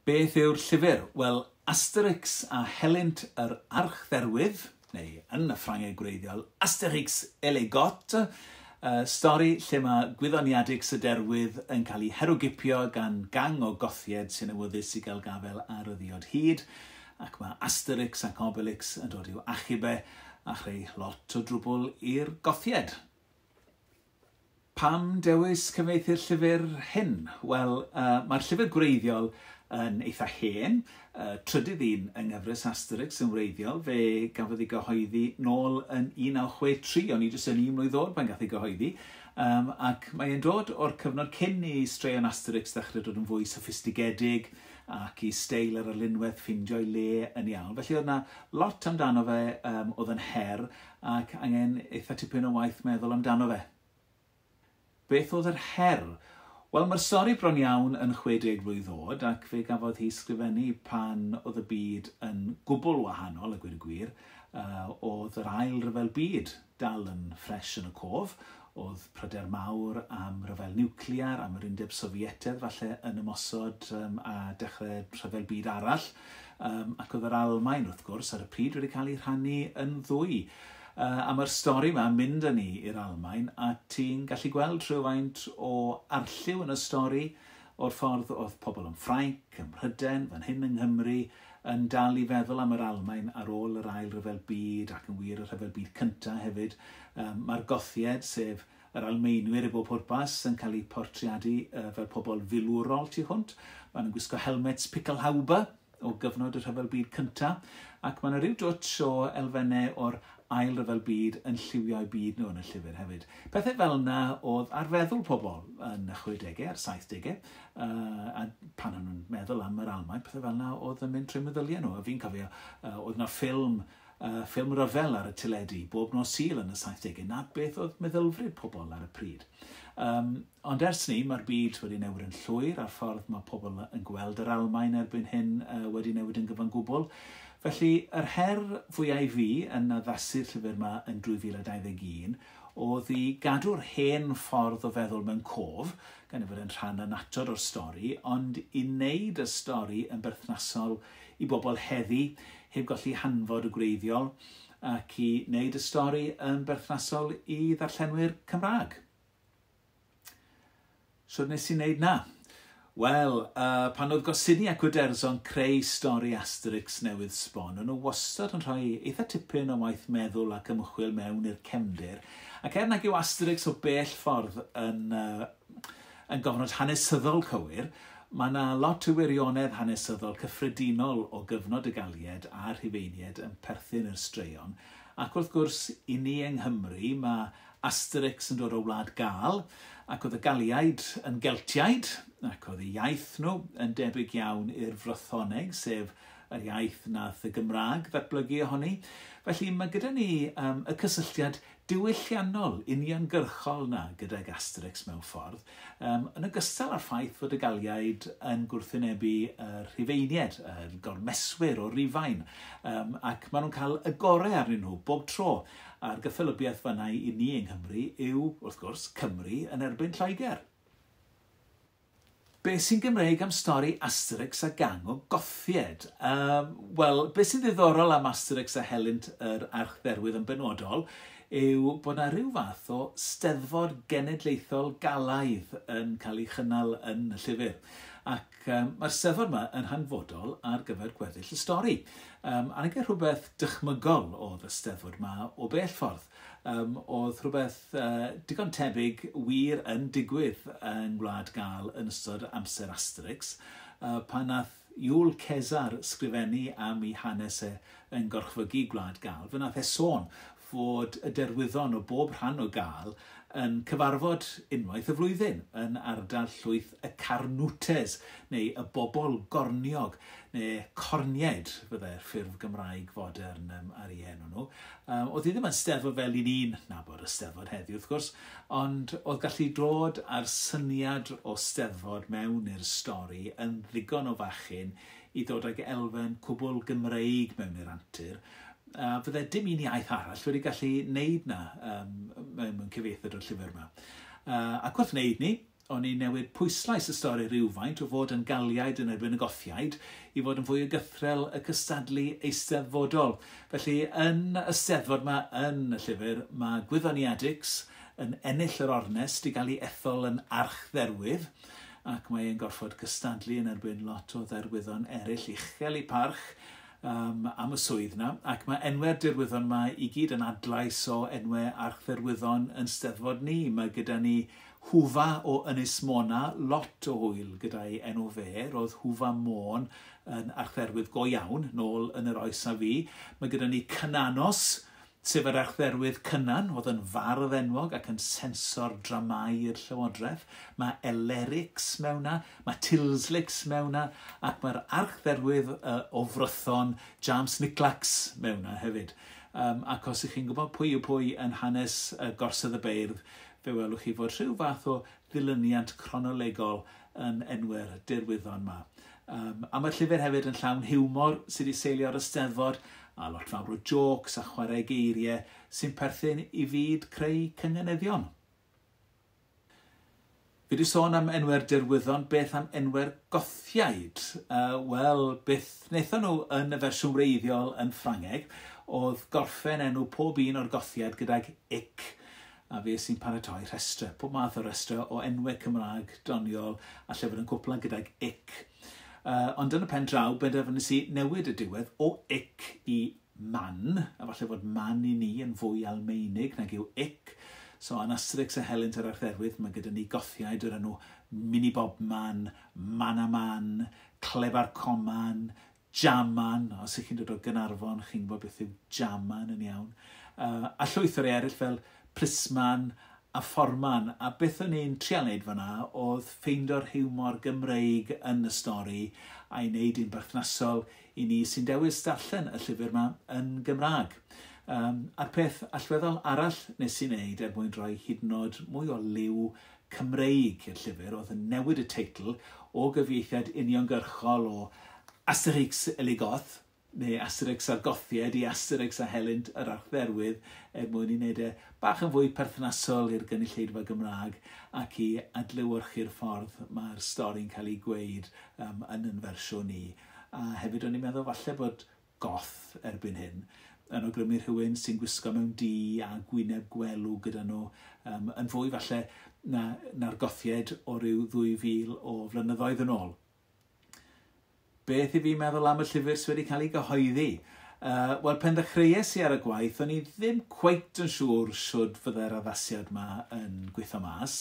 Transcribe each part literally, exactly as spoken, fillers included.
Beth yw'r llyfr? Wel, Asterix a Helynt yr Archdderwydd, neu yn y Ffrangeg gwreiddiol, Astérix et les Goths, uh, stori lle mae gwyddoniadix y derwydd yn cael ei herwgipio gan gang o gothied sy'n awyddus i gael gafael ar y ddiod hud, ac mae Asterix ac Obelix yn dod i'w achub e a chreu lot o drwbl i'r gothied. Pam dewis cyfieithu'r llyfr hyn? Wel, uh, mae'r llyfr gwreiddiol yn eitha hen, uh, trydydd un yng nghyfres Asterix yn wreiddiol, fe gafodd ei gyhoeddi nôl yn un naw chwe tri, o'n i jyst yn un mlwydd oed pan gath ei gyhoeddi, um, ac mae'n dod o'r cyfnod cyn i straeon Asterix ddechrau dod yn fwy soffistigedig ac i steil yr arlunwaith ffindio'i le yn iawn. Felly oedd yna lot amdano fe um, oedd yn her ac angen eitha tipyn o waith meddwl amdano fe. Beth oedd yr her? Wel, mae'r stori bron iawn yn chwe deg mlwydd oed ac fe gafodd hi sgrifennu pan oedd y byd yn gwbl wahanol, a gweud y gwir. Uh, oedd yr ail ryfel byd dal yn ffres yn y cof. Oedd pryder mawr am ryfel niwclear, am yr Undeb Sofietaidd falle yn ymosod um, a dechrau rhyfel byd arall. Um, ac oedd yr Almaen, wrth gwrs, ar y pryd wedi cael ei rhannu yn ddwy. Uh, a mae'r stori yma yn mynd â ni i'r Almaen, a ti'n gallu gweld rhywfaint o arlliw yn y stori o'r ffordd oedd pobl yn Ffrainc, ym Mhrydain, fan hyn yng Nghymru, yn dal i feddwl am yr Almaen ar ôl yr ail ryfel byd ac yn wir y rhyfel byd cyntaf hefyd. Um, mae'r Gothied, sef yr Almaenwyr i bob pwrpas, yn cael eu portreadu uh, fel pobl filwrol tu hwnt. Maen nhw'n gwisgo helmets Pickelhaube o gyfnod y rhyfel byd cyntaf, ac mae yna rhyw dwtsh o elfennau o'r ail ryfel byd yn lliwio'u byd nhw yn y llyfr hefyd. Pethau fel yna oedd ar feddwl pobl yn y chwedegau a'r saithdegau, uh, a pan o'n nhw'n meddwl am yr Almaen, pethau fel yna oedd yn mynd trwy meddyliau nhw. A fi'n cofio, uh, oedd yna ffilm, uh, ffilm ryfel ar y teledu bob nos Sul yn y saithdegau, na beth oedd meddylfryd pobl ar y pryd. Um, ond ers ni, mae'r byd wedi newid yn llwyr, a'r ffordd mae pobl yn gweld yr Almaen erbyn hyn uh, wedi newid yn gyfan gwbl. Felly, yr her fwyaf i fi yn addasu'r llyfr yma yn dwy fil a dau ddeg un oedd i gadw'r hen ffordd o feddwl mewn cof, gan ei fod yn rhan annatod o'r stori, ond i wneud y stori yn berthnasol i bobl heddi, heb golli hanfod y gwreiddiol, ac i wneud y stori yn berthnasol i ddarllenwyr Cymraeg. So nes i wneud na? Wel, uh, pan oedd Goscinny ac Uderzo'n creu stori Asterix newydd sbon, o'n nhw wastad yn rhoi eitha tipyn o waith meddwl ac ymchwil mewn i'r cefndir. Ac er nag yw Asterix o bell ffordd yn, uh, yn gofnod hanesyddol cywir, mae yna lot o wirionedd hanesyddol cyffredinol o gyfnod y Galied a'r Rhufeiniaid yn perthyn i'r straeon. Ac wrth gwrs, i ni yng Nghymru, mae Asterix yn dod o Wlad Gâl, ac oedd y Galiaid yn Geltiaid, ac oedd y iaith nhw yn debyg iawn i'r Frythoneg, sef yr iaith nath y Gymraeg ddatblygu ohoni. Felly mae gyda ni um, y cysylltiad diwylliannol uniongyrchol na gydag Asterix mewn ffordd, um, yn ogystal â'r ffaith fod y Galiaid yn gwrthwynebu y Rhufeiniaid, y gormeswyr o Rufain, um, ac maen nhw'n cael y gorau arnyn nhw bob tro. A'r gyffelybiaeth fan'na i ni yng Nghymru yw, wrth gwrs, Cymru yn erbyn Lloegr. Be sy'n Gymreig am stori Asterix a gang o Gothied? Um, Wel, be sy'n ddiddorol am Asterix a Helynt yr Archdderwydd yn benodol yw bod yna rhyw fath o steddfod genedlaethol Galaidd yn cael ei chynnal yn y llyfr. Ac um, mae'r steddfod yma yn hanfodol ar gyfer gweddill y stori. Um, a nag rhywbeth dychmygol oedd y steddfod yma o bell ffordd. Um, oedd rhywbeth uh, digon tebyg wir yn digwydd yng Ngwlad Gâl yn ystod amser Asterix, uh, pan nath Iwl Cesar sgrifennu am ei hanes e yn gorchfygu Gwlad Gâl. Fe nath e sôn fod y derwyddon o bob rhan o Gâl yn cyfarfod unwaith y flwyddyn yn ardal llwyth y Carnutes, neu y bobl gorniog, neu cornied fyddai'r ffurf Gymraeg fodern um, ar ei enw nhw. Um, oedd hi ddim yn steddfod fel i ni'n nabod y steddfod heddiw, wrth gwrs, ond oedd gallu dod â'r syniad o steddfod mewn i'r stori yn ddigon o fachyn i ddod ag elfen cwbl Gymreig mewn i'r antur. Uh, fydde dim un iaith arall wedi gallu wneud na um, mewn cyfieithiad o'r llyfr yma. Uh, ac wrth wneud ni, o'n i'n newid pwyslais y stori rhywfaint o fod yn Galiaid yn erbyn y Gothiaid i fod yn fwy o gythrel y cystadlu eisteddfodol. Felly, yn y steddfod yma yn y llyfr, mae Gwyddoniadix yn ennill yr ornest i gael ei ethol yn archdderwydd, ac mae e'n gorfod cystadlu yn erbyn lot o dderwyddon eraill uchel eu parch um, am y swydd yna, ac mae enwau'r derwyddon yma i gyd yn adlais o enwau archdderwyddon yn steddfod ni. Mae gyda ni Hwfa o Ynys Mona, lot o hwyl gyda'i enw fe. Roedd Hwfa Môn yn archdderwydd go iawn, nôl yn yr oes a fi. Mae gyda ni Cynanos, sef yr archdderwydd Cynan, oedd yn fardd enwog ac yn sensor dramau i'r Llywodraeth. Mae Elerix mewn na, mae Tilslix mewn na, ac mae'r archdderwydd uh, o Frython, James Niclax, mewn na hefyd. Um, ac os ych chi'n gwybod pwy yw pwy yn hanes uh, Gorsedd y Beirdd, fe welwch chi fod rhyw fath o ddilyniant cronolegol yn enwau'r derwyddon yma. Um, a mae'r llyfr hefyd yn llawn hiwmor sydd wedi seilio ar y steddfod, a lot fawr o jôcs a chwarae geiriau sy'n perthyn i fyd creu cynganeddion. Fi wedi sôn am enwau'r derwyddon, beth am enwau'r Gothiaid? Uh, Wel, beth wnaethon nhw yn y fersiwn wreiddiol yn Ffrangeg oedd gorffen enw pob un o'r Gothiaid gydag ic, a fe sy'n paratoi rhestrau, pob math o rhestrau o enwau Cymraeg doniol a llyfr yn cwpla gydag ic. Uh, ond yn y pen draw, benderfynais i newid y diwedd o ic i man, a falle fod man i ni yn fwy Almaenig nag yw ic. So, yn Asterix a Helynt yr Archdderwydd, mae gyda ni Gothiaid o'r enw Mini Bobman, Manaman, Clebar Coman, Jaman. Os ych chi'n dod o Gaernarfon, chi'n gwybod beth yw Jaman yn iawn. Uh, a llwyth o'r eraill fel Plisman a Fforman. A beth o'n i'n trial wneud fan'na oedd ffeindio'r hiwmor Gymreig yn y stori a'i wneud un berthnasol i ni sy'n dewis darllen y llyfr yma yn Gymraeg. Um, a'r peth allweddol arall nes i wneud er mwyn rhoi hyd yn oed mwy o liw Cymreig i'r llyfr oedd yn newid y teitl o gyfieithiad uniongyrchol o Asterix et les Goths, neu Asterix a'r Gothiaid i Asterix a Helynt yr Archdderwydd, er mwyn i wneud e bach yn fwy perthnasol i'r gynulleidfa Gymraeg ac i adlewyrchu'r ffordd mae'r stori'n cael ei gweud um, yn yn fersiwn ni. A hefyd o'n i'n meddwl falle bod goth erbyn hyn yn awgrymu rhywun sy'n gwisgo mewn du a gwyneb gwelw gyda nhw um, yn fwy falle na, na'r Gothiaid o ryw ddwy fil o flynyddoedd yn ôl. Beth i fi meddwl am y llyfr sydd wedi cael ei gyhoeddi? Uh, Wel, pen ddechreuais i ar y gwaith, o'n i ddim cweit yn siŵr shwd fydde'r addasiad yma yn gweithio mas.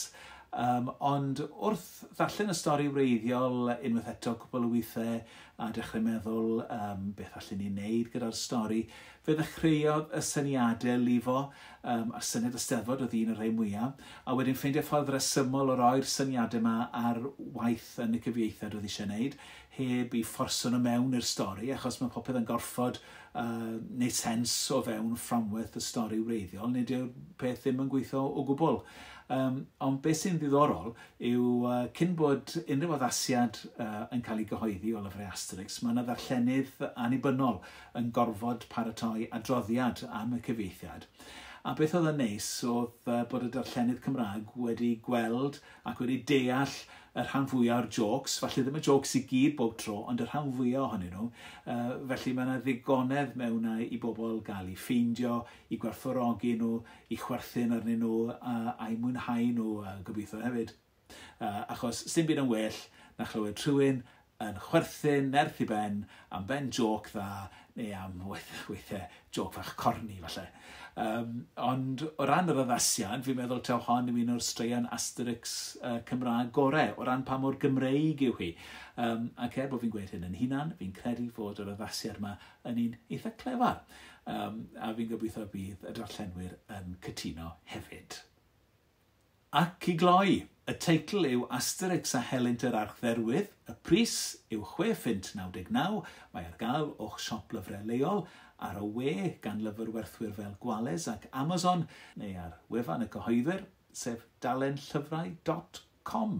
Um, ond wrth ddarllen y stori wreiddiol unwaith eto cwpl o weithiau a dechrau meddwl um, beth allen ni wneud gyda'r stori, fe ddechreuodd y syniadau lifo, um, a'r syniad y Steddfod oedd un o'r rhai mwyaf, a wedyn ffeindio ffordd resymol o roi'r syniadau yma ar waith yn y cyfieithiad oedd eisiau wneud, heb i fforso nhw mewn i'r stori, achos mae popeth yn gorfod uh, wneud sens o fewn fframwaith y stori wreiddiol, nid yw'r peth ddim yn gweithio o gwbl. Um, ond beth sy'n ddiddorol yw uh, cyn bod unrhyw addasiad uh, yn cael ei gyhoeddi o lyfrau Asterix, mae yna ddarllenydd annibynnol yn gorfod paratoi adroddiad am y cyfieithiad. A beth oedd yn neis oedd uh, bod y darllenydd Cymraeg wedi gweld ac wedi deall y rhan fwyaf o'r jôcs, falle ddim y jôcs i gyd bob tro, ond y rhan fwyaf ohonyn nhw. Uh, felly mae yna ddigonedd mewn i bobl gael eu ffeindio, i gwerthfawrogi nhw, i chwerthin arnyn nhw, a, a'i mwynhau nhw uh, gobeithio hefyd. Uh, achos sdim byd yn well na chlywed rhywun yn chwerthin nerth i ben am ben jôc dda, neu am weithiau jôc fach corni falle. Um, ond o ran yr addasiad, fi'n meddwl taw hon yw un o'r straeon Asterix uh, Cymraeg gorau, o ran pa mor Gymreig yw hi. Um, ac er bod fi'n gweud hyn yn hunan, fi'n credu fod yr addasiad yma yn un eitha clefar. Um, a fi'n gobeithio bydd y darllenwyr yn cytuno hefyd. Ac i gloi, y teitl yw Asterix a Helynt yr Archdderwydd, y pris yw chwe phunt naw deg naw, mae ar gael o'ch siop lyfrau leol, ar y we gan lyfrwerthwyr fel Gwales ac Amazon, neu ar wefan y cyhoeddwyr, sef dalen llyfrau dot com.